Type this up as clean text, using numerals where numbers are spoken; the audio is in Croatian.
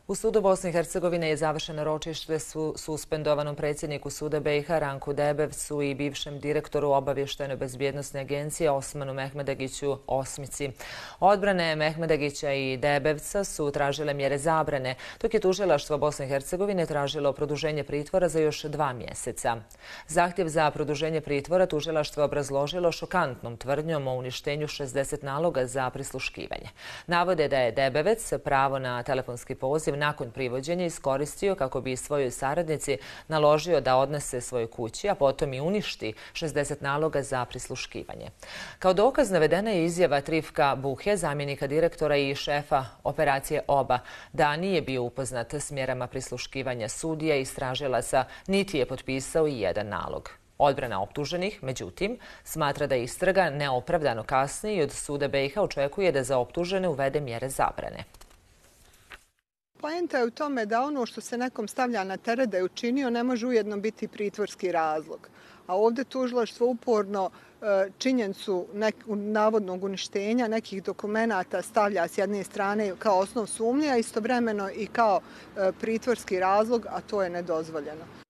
U sudu Bosne i Hercegovine je završeno ročište suspendovanom predsjedniku suda BiH Ranku Debevcu i bivšem direktoru obavještajno-bezbjednosne agencije Osmanu Mehmedagiću Osmici. Odbrane Mehmedagića i Debevca su tražile mjere zabrane, dok je tužilaštvo Bosne i Hercegovine tražilo produženje pritvora za još 2 mjeseca. Zahtjev za produženje pritvora tužilaštvo je obrazložilo šokantnom tvrdnjom o uništenju 60 naloga za prisluškivanje. Navode da je Debevec pravo na telefonski poziv nakon privođenja iskoristio kako bi svojoj saradnici naložio da odnese svojoj kući, a potom i uništi 60 naloga za prisluškivanje. Kao dokaz navedena je izjava Trifka Buhe, zamjenika direktora i šefa operacije OBA, da nije bio upoznat s mjerama prisluškivanja sudija i istražilaca, niti je potpisao i jedan nalog. Odbrana optuženih, međutim, smatra da istraga neopravdano kasni i od suda BiH očekuje da za optužene uvede mjere zabrane. Poenta je u tome da ono što se nekom stavlja na teret da je učinio ne može ujedno biti pritvorski razlog. A ovdje tužilaštvo uporno činjenicu navodnog uništenja nekih dokumenata stavlja s jedne strane kao osnov sumnje, a istovremeno i kao pritvorski razlog, a to je nedozvoljeno.